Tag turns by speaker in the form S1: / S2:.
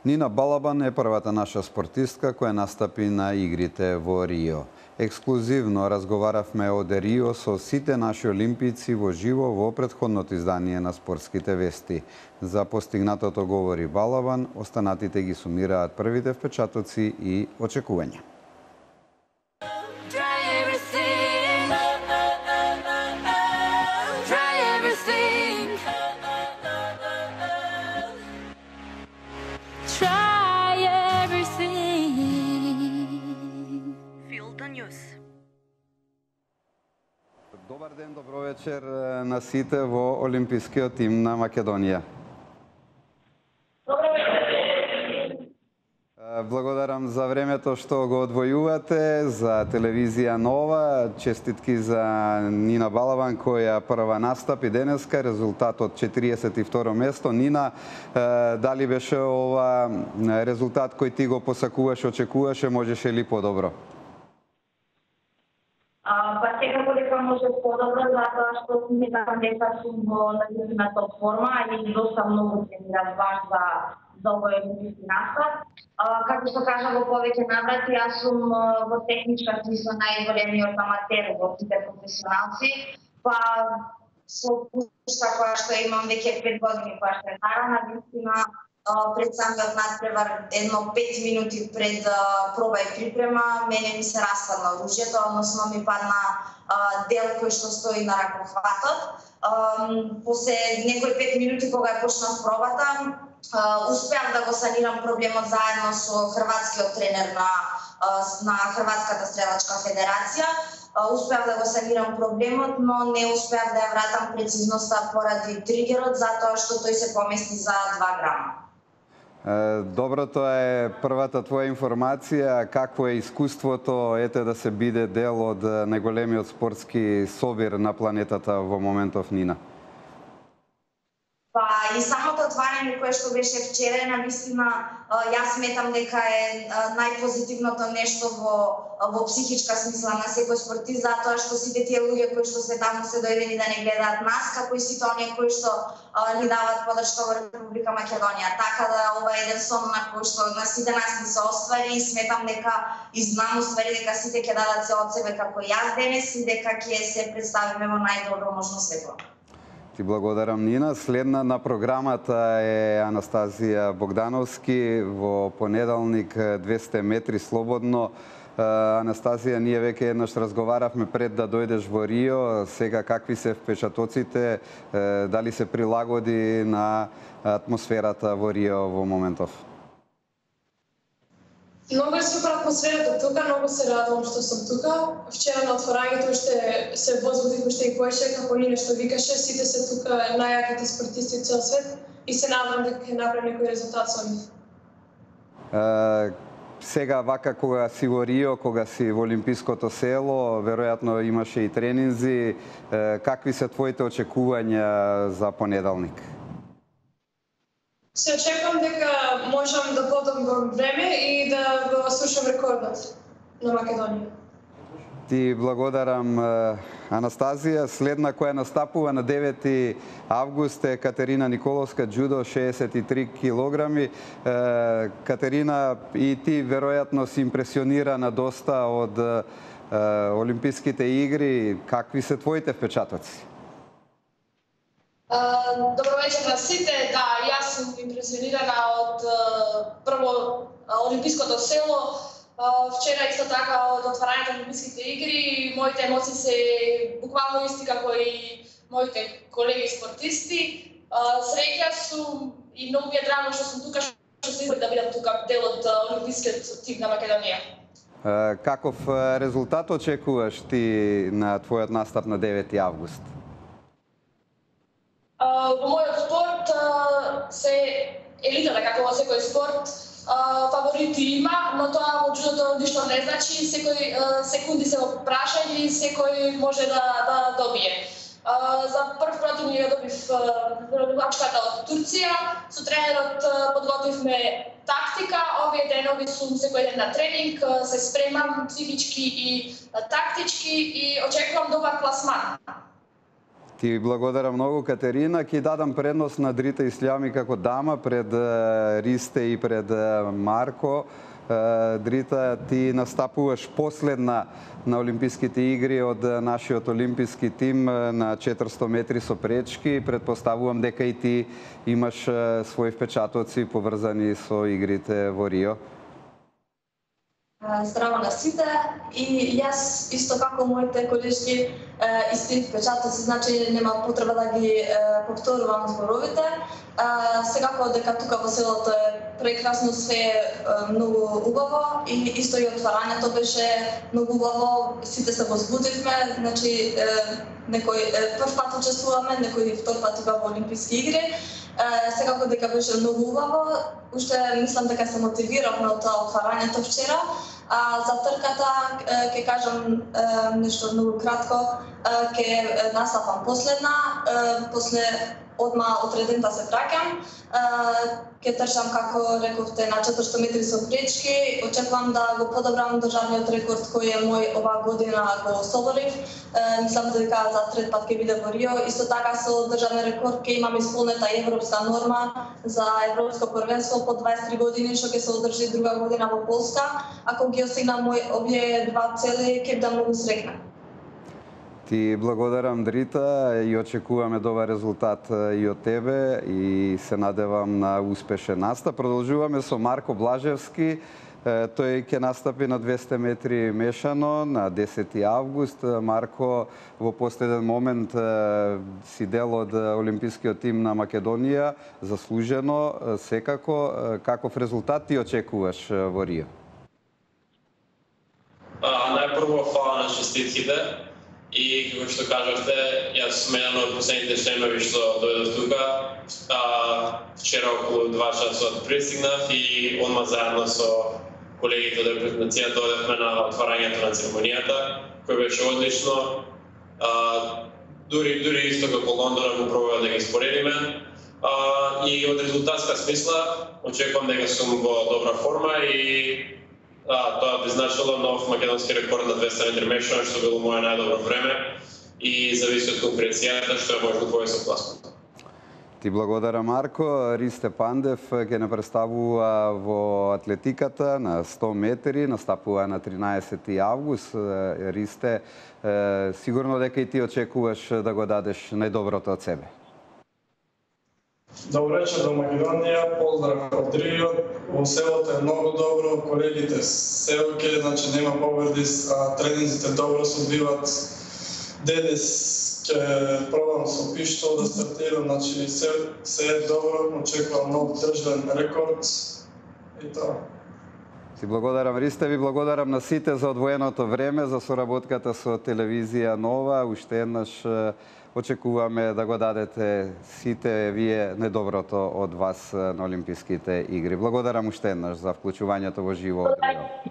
S1: Нина Балабан е првата наша спортистка која настапи на игрите во Рио. Ексклузивно разговаравме од Рио со сите наши олимпици во живо во претходното издание на Спортските вести. За постигнатото говори Балабан, останатите ги сумираат првите впечатоци и очекувања. Добар ден, добро вечер на сите во олимпискиот тим на Македонија.
S2: Добро вечер.
S1: Благодарам за времето што го одвојувате за телевизија Нова. Честитки за Нина Балабан која прва настапи денеска, резултатот 42 место. Нина, дали беше ова резултат кој ти го посакуваш, очекуваше, можеше ли подобро?
S2: Па секако дека може подобро, затоа што сметам дека сум во наистина топ форма и доста многу тренирам баш за овој олимписки настап. Како се кажа во повеќе наврати, јас сум во техничка смисла најголемиот аматер во сите професионалци, па со пушта која што имам веќе 5 години која што е нарана, вистина пред самиот надпревар, едно 5 минути пред проба и припрема, мене ми се распадна оружјето, односно ми падна дел кој што стои на ракофатот. После некои 5 минути кога ја почнав пробата, успеав да го санирам проблемот заедно со хрватскиот тренер на Хрватската стрелачка федерација. Успеав да го санирам проблемот, но не успеав да ја вратам прецизноста поради тригерот, затоа што тој се помести за 2 грама.
S1: Добро, тоа е првата твоја информација. Какво е искуството да се биде дел од најголемиот спортски собир на планетата во моментов, Нина?
S2: Па и самото отварање кое што беше вчера, навистина јас сметам дека е најпозитивното нешто во психичка смисла на секој спортист, затоа што сите тие луѓе кои што се таму се дојдени да не гледаат нас, како и сите оние кои што ни даваат подршка во Република Македонија. Така да ова е еден сон на кој што на сите нас ни се оствари и сметам дека и знам уствари дека сите ќе дадат се од себе како јас денес и дека ќе се представиме во најдобро можно светло.
S1: Ти благодарам, Нина. Следна на програмата е Анастазија Богдановски во понеделник 200 метри слободно. Анастазија, ние веќе еднаш разговаравме пред да дојдеш во Рио. Сега какви се впечатоците? Дали се прилагоди на атмосферата во Рио во моментов?
S3: Многу е супер атмосферата тука, многу се радувам што сум тука. Вчера на отворањето уште се возбудив уште и поише, како Нина што викаше, сите се тука најаките спортисти од цел свет и се надевам дека ќе направи некој резултат со нив.
S1: Сега вака кога си во Рио, кога си во Олимпиското село, веројатно имаше и тренинзи, какви се твоите очекувања за понеделник?
S3: Се очекувам дека можам да подобрам време и да го слушам рекордот на Македонија.
S1: Ти благодарам, Анастазија. Следна која настапува на 9 август е Катерина Николовска, джудо, 63 килограми. Катерина, и ти веројатно си импресионирана доста од Олимписките игри. Какви се твоите впечатоци?
S3: Добро вечер на сите. Да, јас сум импресионирана од прво Олимпиското село. Вчера исто така од отварањето на Олимписките игри. Моите емоции се буквално исти како и моите колеги спортисти. Среќа сум и многу ми е драго што сум тука, што се избори да бидам тука дел од Олимпискиот тим на Македонија.
S1: Каков резултат очекуваш ти на твојот настап на 9 август?
S3: Во мојот спорт се елитата, како во секој спорт, фаворити има, но тоа во джудото ништо не значи, секој секунди се во прашање и секој може да добие. За прв противник ја добив рибачката од Турција, со тренерот подготвивме тактика, овие денови сум секој ден на тренинг, се спремам психички и тактички и очекувам добар пласман.
S1: Ти благодарам многу, Катерина. Ќе дадам предност на Дрита Ислјами како дама пред Ристе и пред Марко. Дрита, ти настапуваш последна на Олимписките игри од нашиот олимписки тим на 400 метри со пречки. Предпоставувам дека и ти имаш своји впечатоци поврзани со игрите во Рио.
S3: Здраво на сите и јас исто како моите колешки исти впечатоци, значи нема потреба да ги повторувам зборовите. Секако дека тука во селото е прекрасно, све е многу убаво и исто и отварањето беше многу убаво, сите се возбудивме, значи некој прв пат учествуваме, некој втор пат во Олимписки игри. Секако дека беше многу убаво, уште мислам дека се мотивиравме од тоа отварањето вчера. За трката ќе кажам нешто многу кратко, ќе настапам последна, после одма отредента се враќам. Ќе трчам, како рековте, на 400 метри со пречки. Очекувам да го подобрам државниот рекорд кој е мој оваа година го соборив. Мислам дека за трет пат ќе биде во Рио. Исто така со државен рекорд ќе имам исполнета европска норма за европско првенство по 23 години што ќе се одржи друга година во Полска. Ако ги осигнам овие два цели, ќе бидам многу среќна.
S1: Ти благодарам, Дрита, и очекуваме добар резултат и од тебе и се надевам на успешен настап. Продолжуваме со Марко Блажевски. Тој ќе настапи на 200 метри мешано на 10 август. Марко, во последен момент си дел од олимпискиот тим на Македонија, заслужено секако. Каков резултат ти очекуваш во Рио?
S4: Најпрво фала на честитките. И како што кажавте, јас сум еден од последните членови што дојдов тука. Вчера околу 2 часот пристигнав и одма заедно со колегите од репрезентацијата дојдовме на отварањето на церемонијата, кој беше одлично. Дури исто како Лондона го пробува да ги споредиме. И од резултатска смисла очекувам дека сум во добра форма и тоа би значило нов македонски рекорд на 200 метри мешано, што било моје најдобро време и зависи од конкуренцијата што е можно повеќе класмент.
S1: Ти благодарам, Марко. Ристе Пандев ќе не представува во атлетиката на 100 метри, настапува на 13 август. Ристе, сигурно дека и ти очекуваш да го дадеш најдоброто од себе.
S5: Добро вечер до Македонија, поздрав од Рио. Во селото е многу добро, колегите се оке, значи нема повреди, тренинзите добро се одвиваат. Денес ќе пробам со пиштол да стартирам, значи се е добро, очекувам нов државен рекорд и тоа.
S1: Ти благодарам, Ристе, ви благодарам на сите за одвоеното време, за соработката со телевизија Нова. Уште еднаш очекуваме да го дадете сите вие најдоброто од вас на Олимписките игри. Благодарам уште еднаш за вклучувањето во живо од Рио.